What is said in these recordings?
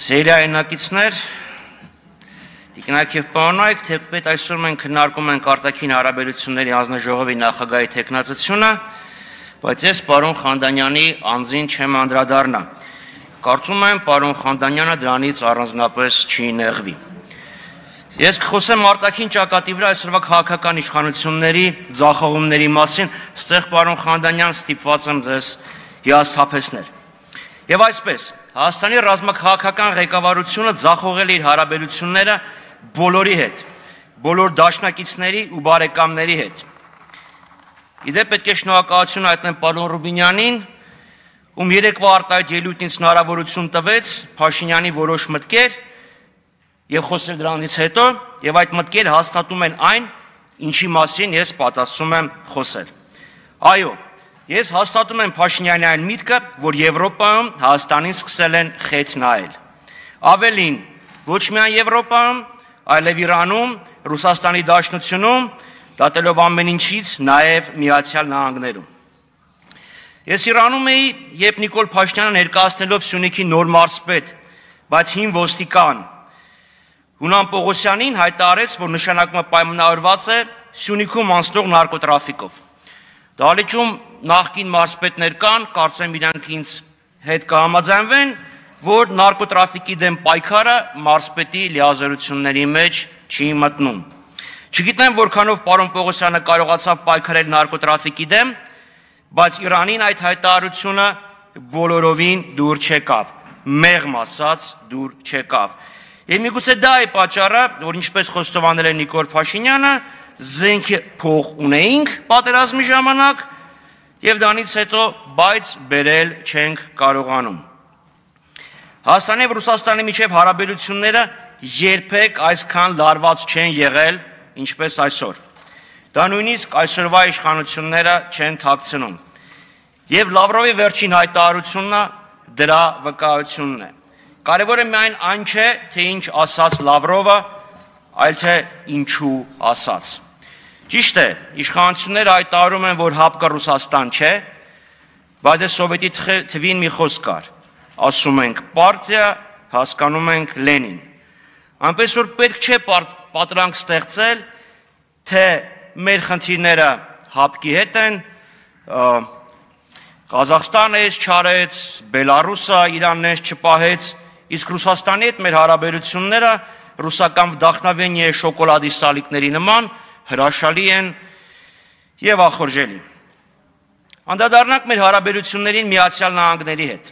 Սերիայնակիցներ, տիկնայք և պարոնայք, թեպետ այսօր մենք քննարկում ենք արտաքին հարաբերությունների հանձնաժողովի նախագահի թեկնածությունը, բայց ես պարոն Խանդանյանի անձին չեմ անդրադառնա։ Կարծում եմ, պարոն Խանդանյանը դրանից առանձնապես չի նեղվի։ Ես կխոսեմ արտաքին ճակատի վրա այսօրվա քաղաքական իշխանությունների ձախողումների մասին, ստեղ պարոն Խանդանյան ստիպված եմ ձեզ հիասթափեցնել։ Եվ այսպես, Հայաստանի ռազմաքաղաքական ղեկավարությունը ձախողել է իր հարաբերությունները բոլորի հետ, բոլոր դաշնակիցների ու բարեկամների հետ։ Իդեպ պետք է շնորհակալություն հայտնեմ պարոն Ռուբինյանին, ում երեկվա արտահայտ ելույթից հնարավորություն տվեց Փաշինյանի որոշ մտքեր եւ խոսել դրանից հետո, եւ այդ մտքերը հաստատում են այն, ինչի մասին ես պատասխանում եմ խոսել։ Այո, ես հաստատում եմ Փաշինյանի այն միտքը, որ Եվրոպայում Հայաստանին սկսել են խեթ նայել։ Ավելին, ոչ միայն Եվրոպայում, այլև Իրանում, Ռուսաստանի Դաշնությունում, դատելով ամեն ինչից, նաև Միացյալ Նահանգներում։ Ես Իրանում էի, երբ Նիկոլ Փաշինյանը ներկայացնելով Սյունիքի նոր մարզպետ, բայց հին ոստիկան Հունան Պողոսյանին հայտարարեց, որ նշանակումը պայմանավորված է Սյունիքում անցնող նարկոտրաֆիկով։ Դահլիճում նախկին մարզպետներ կան, կարծեմ իրանք ինձ հետ կհամաձայնվեն, որ նարկոտրաֆիկի դեմ պայքարը մարզպետի լիազորությունների մեջ չի մտնում։ Չգիտեմ որքանով պարոն Պողոսյանը կարողացավ պայքարել նարկոտրաֆիկի դեմ, բայց Իրանին այդ հայտարարությունը բոլորովին դուր չեկավ, մեղմ ասած դուր չեկավ։ Եվ միգուցե դա է պատճառը, որ ինչպես խոստովանել է Նիկոլ Փաշինյանը, զենք փող ունեինք պատերազմի ժամանակ եւ դրանից հետո բայց բերել չենք կարողանում։ Հայաստանի եւ Ռուսաստանի միջև հարաբերությունները երբեք այսքան լարված չեն եղել, ինչպես այսօր։ Դա նույնիսկ այսօրվա իշխանությունները չեն թաքցնում։ Եվ Լավրովի վերջին հայտարարությունը դրա վկայությունն է։ Կարևորը միայն այն չէ, թե ինչ ասաց Լավրովը, այլ թե ինչու ասաց։ Ճիշտ է, իշխանությունները հայտարարում են, որ հապկը Ռուսաստան չէ, բայց սովետի թվին մի խոսք կար, ասում ենք պարտիա, հասկանում ենք Լենին։ Այնպես որ պետք չէ պատրանք ստեղծել, թե մեր խնդիրները հապկի հետ են, Ղազախստանը էս չարեց, Բելարուսը Իրանն էս չպահեց, իսկ Ռուսաստանի հետ մեր հարաբերությունները ռուսական վդախնավենի շոկոլադի սալիկների նման հրաշալի են եւ ախորժելի։ Անդրադառնանք մեր հարաբերություններին Միացյալ Նահանգների հետ։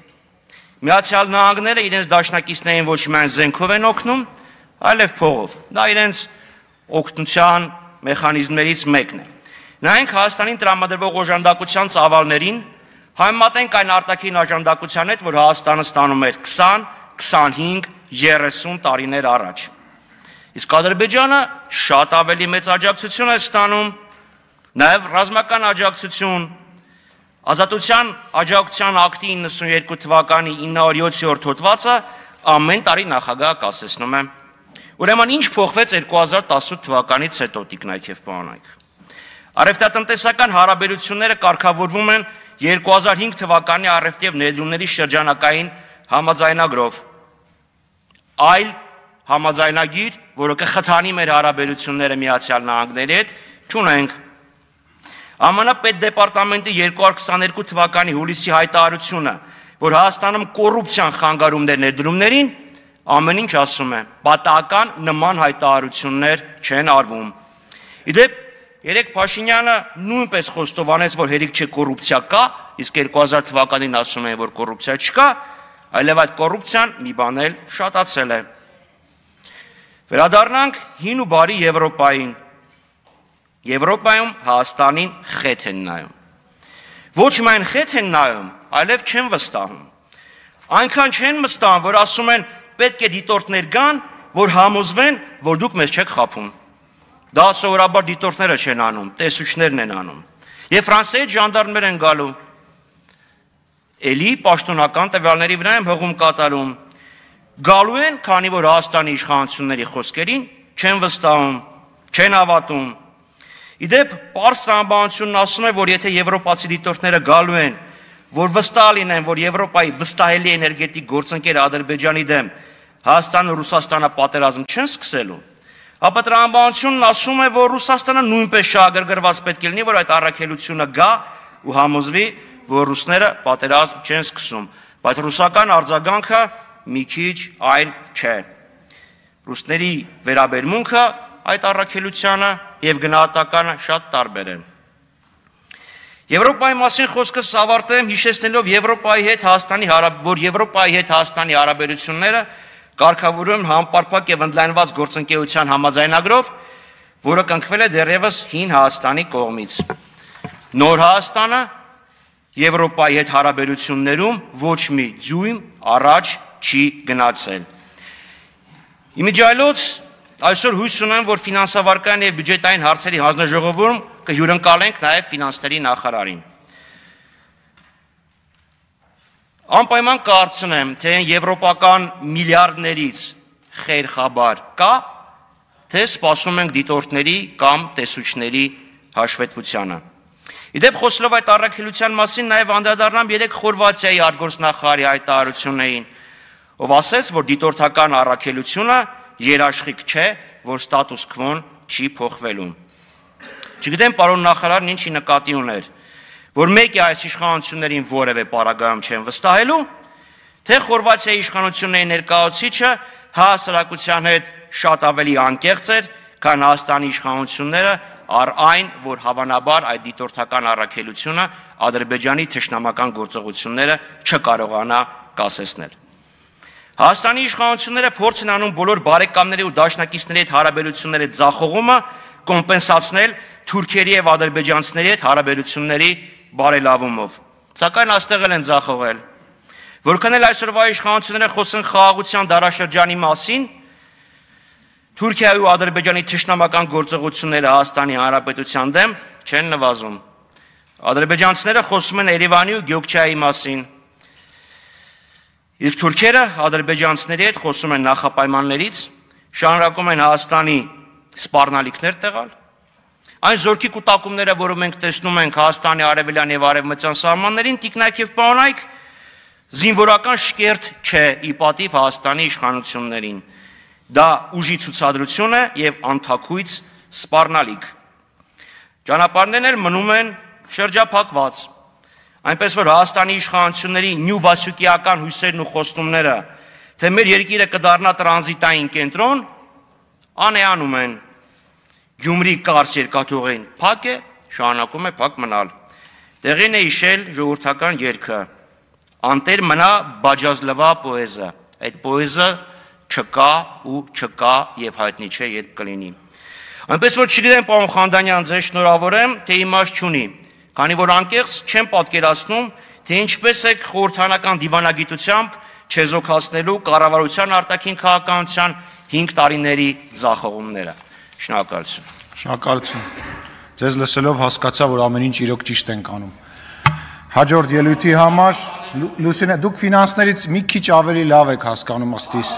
Միացյալ Նահանգները իրենց դաշնակիցներին ոչ միայն զենքով են օգնում, այլև փողով։ Դա իրենց օգնության մեխանիզմներից մեկն է։ Նայենք Հայաստանին տրամադրվող օժանդակության ծավալներին, համեմատենք այն արտաքին օժանդակության հետ, որ Հայաստանը ստանում էր 20, 25, 30 տարիներ առաջ։ Իսկ Ադրբեջանը շատ ավելի մեծ աջակցություն է ստանում, նաև ռազմական աջակցություն, Ազատության աջակցության ակտի 92 թվականի 907-րդ հոդվածը ամեն տարի նախագահը կասեցնում է։ Ուրեմն ինչ փոխվեց 2018 թվականից հետո, տիկնայք և պարոնայք։ Առևտրատնտեսական հարաբերությունները կարգավորվում են 2005 թվականի առևտրի և ներդրումների շրջանակային համաձայնագրով, այլ համաձայնագիր, որը կխթանի մեր հարաբերությունները Միացյալ Նահանգների հետ, չունենք։ ԱՄՆ պետդեպարտամենտի 2022 թվականի հուլիսի հայտարարությունը, որ Հայաստանում կոռուպցիան խանգարում է ներդրումներին, ամեն ինչ ասում է, պատահական նման հայտարարություններ չեն արվում։ Իդեպ երեք Փաշինյանը նույնպես խոստովանեց, որ հերիք չէ կոռուպցիա կա, իսկ 2000 թվականին ասում են, որ կոռուպցիա չկա, այլև այդ կոռուպցիան մի բան էլ շատացել է։ Վերադառնանք հին ու բարի Եվրոպային։ Եվրոպայում Հայաստանին խեթ են նայում։ Ոչ միայն խեթ են նայում, այլև չեն վստահում։ Այնքան չեն վստահում, որ ասում են պետք է դիտորդներ գան, որ համոզվեն, որ դուք մեզ չեք խաբում։ Դա սովորաբար դիտորդները չեն անում, տեսուչներն են անում։ Եվ Ֆրանսիայից ժանդարմներ են գալու։ Էլի պաշտոնական տվյալների վրա եմ հղում կատարում։ Գալու են, քանի որ Հայաստանի իշխանությունների խոսքերին չեն վստահում, չեն հավատում։ Իդեպ պարզ տրամաբանությունն ասում է, որ եթե եվրոպացի դիտորդները գալու են, որ վստահ լինեն, որ Եվրոպայի վստահելի էներգետիկ գործընկեր Ադրբեջանի դեմ Հայաստանը ու Ռուսաստանը պատերազմ չեն սկսելու, ապա տրամաբանությունն ասում է, որ Ռուսաստանը նույնպես շահագրգռված պետք է լինի, որ այդ առաքելությունը գա ու համոզվի, որ ռուսները պատերազմ չեն սկսում, բայց ռուսական արձագանքը մի քիչ այն չէ։ Ռուսների վերաբերմունքը այդ առաքելությանը եւ գնահատականը շատ տարբեր են։ Եվրոպայի մասին խոսքս ավարտեմ հիշեցնելով Եվրոպայի հետ Հայաստանի հարաբերությունները կարգավորում համապարփակ եւ ընդլայնված գործընկերության համաձայնագրով, որը կնքվել է դեռևս հին Հայաստանի կողմից։ Նոր Հայաստանը Եվրոպայի հետ հարաբերություններում ոչ մի ձույն առաջ չի գնացել։ Իմիջիայլոց այսօր հույս ունեմ, որ ֆինանսավարական եւ բյուջետային հարցերի հանձնաժողովում կհյուրընկալենք նաեւ ֆինանսների նախարարին։ Անպայման կարծում թե եվրոպական միլիարդներից խերխաբար կա, թե սպասում ենք դիտորդների կամ տեսուչների հաշվետվությանը։ Իդեպ խոսելով այդ առաքելության մասին նաև անդրադառնամ 3 Խորվաթիայի արտգործնախարարի հայտարարություններին, ով ասեց, որ դիտորդական առաքելությունը երաշխիք չէ, որ ստատուս քվոն չի փոխվելու։ Չգիտեմ պարոն նախարարն ինչի նկատի ուներ, որ մեկ է այս իշխանություններին որևէ պարագայում չեն վստահելու, թե Խորվաթիայի իշխանությունների ներկայացուցիչը հասարակության հետ շատ ավելի անկեղծ էր, քան Հայաստանի իշխանությունները առ այն, որ հավանաբար այդ դիտորդական առաքելությունը Ադրբեջանի թշնամական գործողությունները չկարողանա կասեցնել։ Հայաստանի իշխանությունները փորձ են անում բոլոր բարեկամների ու դաշնակիցների հետ հարաբերությունների ձախողումը կոմպենսացնել թուրքերի եւ ադրբեջանցիների հետ հարաբերությունների բարելավումով։ Սակայն այստեղ են ձախողել։ Որքան էլ այսօրվա իշխանությունները խոսեն խաղաղության դարաշրջանի մասին, Թուրքիայի ու Ադրբեջանի թշնամական գործողությունները Հայաստանի Հանրապետության դեմ չեն նվազում։ Ադրբեջանցիները խոսում են Երևանի ու Գյոկչայի մասին։ Իսկ թուրքերը ադրբեջանցիների հետ խոսում են նախապայմաններից, շարունակում են Հայաստանի սպառնալիքներ տեղալ։ Այն զորքի կուտակումները, որը մենք տեսնում ենք Հայաստանի արևելյան եւ արևմտյան սահմաններին, տիկնայք եւ պարոնայք, զինվորական շկերտ չէ ի պատիվ Հայաստանի իշխանություններին։ Դա ուժի ցուցադրություն է եւ անթաքույց սպառնալիք։ Ճանապարհներն էլ մնում են շրջափակված, այնպես որ Հայաստանի իշխանությունների նյութական հույսերն ու խոստումները, թե մեր երկիրը կդառնա տրանզիտային կենտրոն, անեանում են։ Գյումրի կարս երկաթուղին փակ է, շարունակում է փակ մնալ։ Տեղին է հիշել ժողովրդական երգը. «Անտեր մնա բաջազլվա պոեզը»։ Այդ պոեզը չկա ու չկա եւ հայտնի չէ երբ կլինի։ Այնպես որ չգիտեմ պարոն Խանդանյան, ձեզ շնորհավորեմ, թե իմաստ չունի, քանի որ անկեղծ չեմ պատկերացնում, թե ինչպես եք խորհրդանական դիվանագիտությամբ չեզոքացնելու կառավարության արտաքին քաղաքականության 5 տարիների ձախողումները։ Շնորհակալություն։ Շնորհակալություն։ Ձեզ լսելով հասկացա, որ ամեն ինչ իրոք ճիշտ ենք անում։ Հաջորդ ելույթի համար Լուսինե, դուք ֆինանսներից մի քիչ ավելի լավ եք հասկանում ըստ իս։